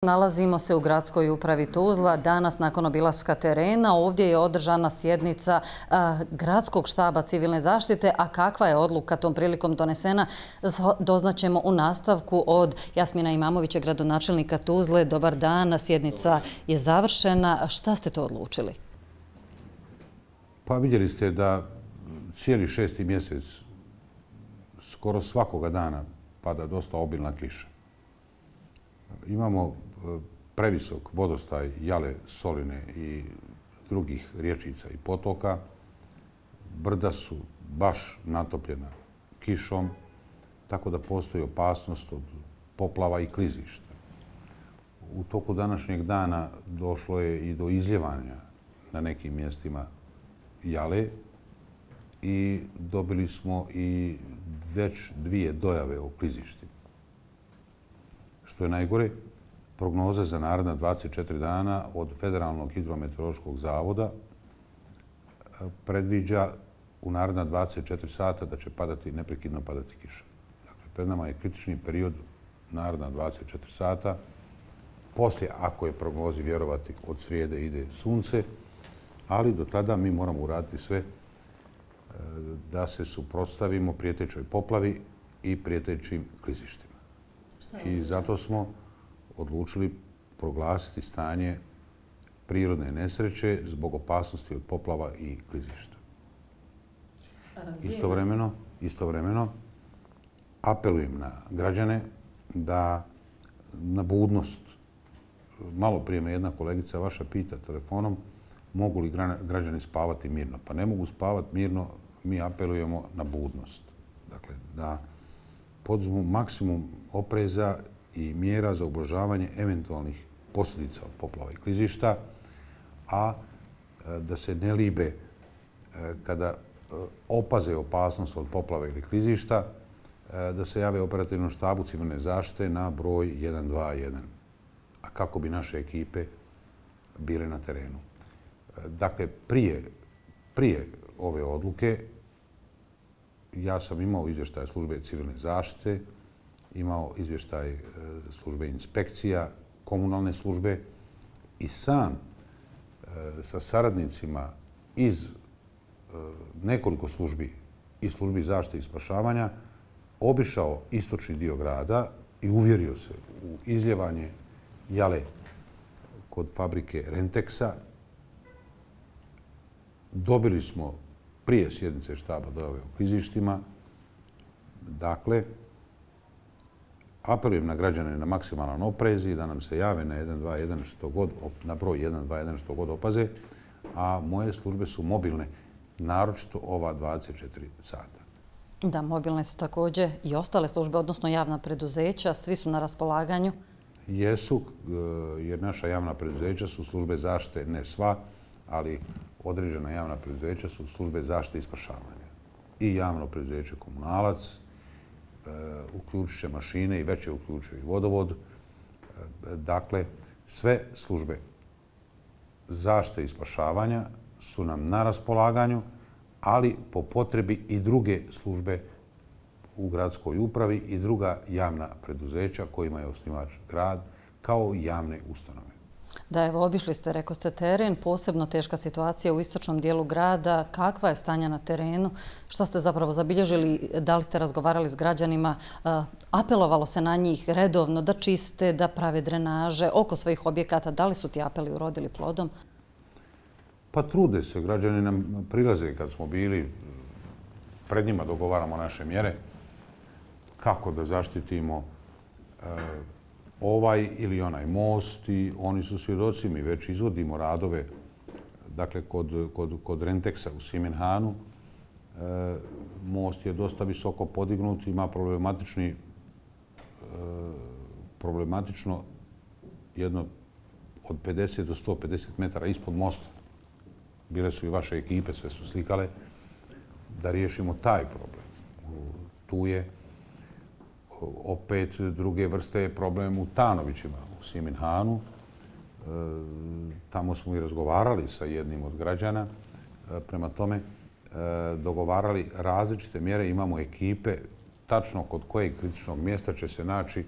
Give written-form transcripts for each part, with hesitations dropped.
Nalazimo se u gradskoj upravi Tuzla. Danas, nakon obilaska terena, ovdje je održana sjednica gradskog štaba civilne zaštite, a kakva je odluka tom prilikom donesena, doznaćemo u nastavku od Jasmina Imamovića, gradonačelnika Tuzle. Dobar dan, sjednica je završena. Šta ste to odlučili? Pa vidjeli ste da cijeli 6. mjesec, skoro svakoga dana, pada dosta obilna kiša. Imamo previsok vodostaj Jale, Soline i drugih rječica i potoka. Brda su baš natopljena kišom, tako da postoji opasnost od poplava i klizišta. U toku današnjeg dana došlo je i do izljevanja na nekim mjestima Jale i dobili smo i već 2 dojave o klizištima. Što je najgore, prognoza za naredna 24 dana od Federalnog hidrometeorološkog zavoda predviđa u naredna 24 sata da će neprekidno padati kiša. Dakle, pred nama je kritični period naredna 24 sata. Poslije, ako je prognozi vjerovati, od srijede ide sunce, ali do tada mi moramo uraditi sve da se suprotstavimo prijetećoj poplavi i prijetećim klizištima. I zato smo odlučili proglasiti stanje prirodne nesreće zbog opasnosti od poplava i klizišta. Istovremeno apelujem na građane da na budnost. Malo prije me jedna kolegica vaša pita telefonom mogu li građani spavati mirno. Pa ne mogu spavati mirno, mi apelujemo na budnost. Dakle, da poduzmu maksimum opreza i mjera za ublažavanje eventualnih posljedica od poplava i klizišta, a da se ne libe kada opaze opasnost od poplave ili klizišta, da se jave operativnom štabu civilne zaštite na broj 121, a kako bi naše ekipe bile na terenu. Dakle, prije ove odluke ja sam imao izvještaj službe civilne zaštite, imao izvještaj službe inspekcija, komunalne službe i sam sa saradnicima iz nekoliko službi i službi zaštite i spašavanja obišao istočni dio grada i uvjerio se u izljevanje Jale kod fabrike Renteksa. Dobili smo prije sjednice štaba dojave o klizištima. Dakle, apelujem na građane na maksimalan oprez i da nam se jave na 121 na broj 121 što god opaze, a moje službe su mobilne, naročito ova 24 sata. Da, mobilne su također i ostale službe, odnosno javna preduzeća, svi su na raspolaganju. Jesu, jer naša javna preduzeća su službe zaštite, ne sva, ali određena javna preduzeća su službe zaštite i spašavanja. I javno preduzeće Komunalac, uključit će mašine i već je uključio i vodovod. Dakle, sve službe zaštite i spašavanja su nam na raspolaganju, ali po potrebi i druge službe u gradskoj upravi i druga javna preduzeća kojima je osnivač grad, kao i javne ustanove. Da, evo, obišli ste, rekao ste, teren, posebno teška situacija u istočnom dijelu grada. Kakva je stanja na terenu? Šta ste zapravo zabilježili? Da li ste razgovarali s građanima? Apelovalo se na njih redovno da čiste, da prave drenaže oko svojih objekata. Da li su ti apeli urodili plodom? Pa trude se. Građani nam prilaze kad smo bili. Pred njima dogovaramo naše mjere. Kako da zaštitimo ovaj ili onaj most i oni su svjedoci. Mi već izvodimo radove, dakle, kod Renteksa u Simenhanu. Most je dosta visoko podignut, ima problematično jedno od 50 do 150 metara ispod mosta. Bile su i vaše ekipe, sve su slikale, da riješimo taj problem. Tu je opet druge vrste problem u Tanovićima, u Simenhanu. Tamo smo i razgovarali sa jednim od građana. Prema tome, dogovarali različite mjere. Imamo ekipe tačno kod kojeg kritičnog mjesta će se naći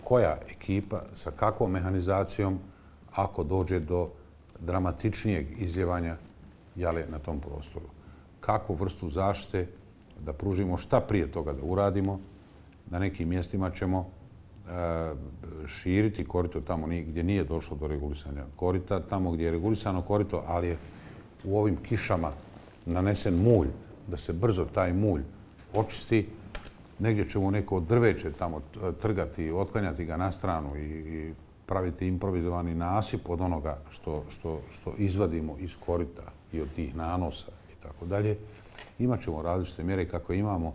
koja ekipa sa kakvom mehanizacijom ako dođe do dramatičnijeg izljevanja jale na tom prostoru. Kakvu vrstu zaštite da pružimo, šta prije toga da uradimo. Na nekim mjestima ćemo širiti korito tamo gdje nije došlo do regulisanja korita, tamo gdje je regulisano korito, ali je u ovim kišama nanesen mulj, da se brzo taj mulj očisti. Negdje ćemo neko drveće tamo trgati, otklanjati ga na stranu i praviti improvizovani nasip od onoga što izvadimo iz korita i od tih nanosa i tako dalje. Imat ćemo različite mjere kako imamo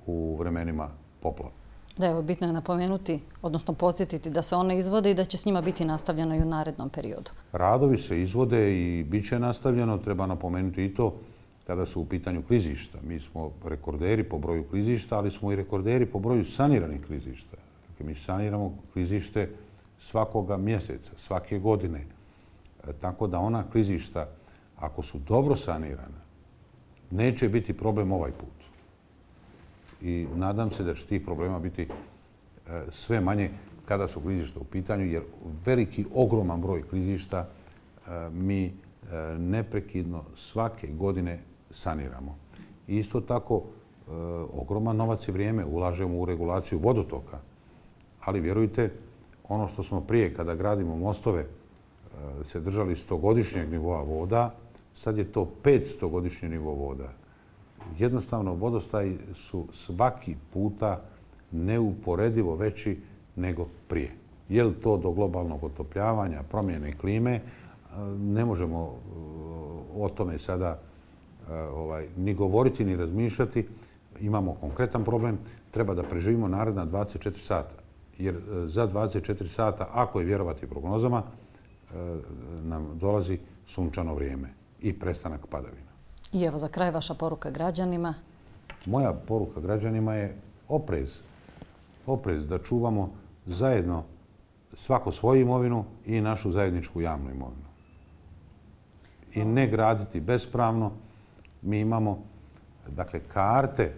u vremenima poplava. Da, evo, bitno je napomenuti, odnosno podsjetiti da se one izvode i da će s njima biti nastavljeno i u narednom periodu. Radovi se izvode i bit će nastavljeno. Treba napomenuti i to kada su u pitanju klizišta. Mi smo rekorderi po broju klizišta, ali smo i rekorderi po broju saniranih klizišta. Dakle, mi saniramo klizište svakoga mjeseca, svake godine. Tako da ona klizišta, ako su dobro sanirana, neće biti problem ovaj put. I nadam se da će tih problema biti sve manje kada su klizišta u pitanju, jer veliki, ogroman broj klizišta mi neprekidno svake godine saniramo. I isto tako, ogroman novac i vrijeme ulažemo u regulaciju vodotoka. Ali vjerujte, ono što smo prije, kada gradimo mostove, se držali 100-godišnjeg nivoa voda, sad je to 500-godišnji nivo voda. Jednostavno, vodostaji su svaki puta neuporedivo veći nego prije. Je li to do globalnog otopljavanja, promjene klime? Ne možemo o tome sada ni govoriti, ni razmišljati. Imamo konkretan problem. Treba da preživimo naredna 24 sata. Jer za 24 sata, ako je vjerovati prognozama, nam dolazi sunčano vrijeme i prestanak padavina. I evo, za kraj vaša poruka građanima. Moja poruka građanima je oprez. Oprez da čuvamo zajedno svako svoju imovinu i našu zajedničku javnu imovinu. I ne graditi bespravno. Mi imamo, dakle, karte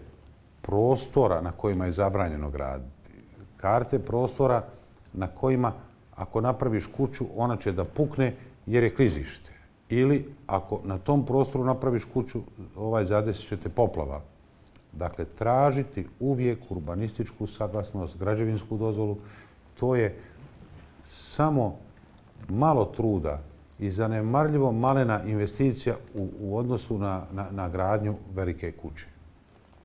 prostora na kojima je zabranjeno graditi. Karte prostora na kojima, ako napraviš kuću, ona će da pukne jer je klizište. Ili ako na tom prostoru napraviš kuću, zadesit će te poplava. Dakle, tražiti uvijek urbanističku saglasnost, građevinsku dozvolu, to je samo malo truda i zanemarljivo malena investicija u odnosu na gradnju velike kuće.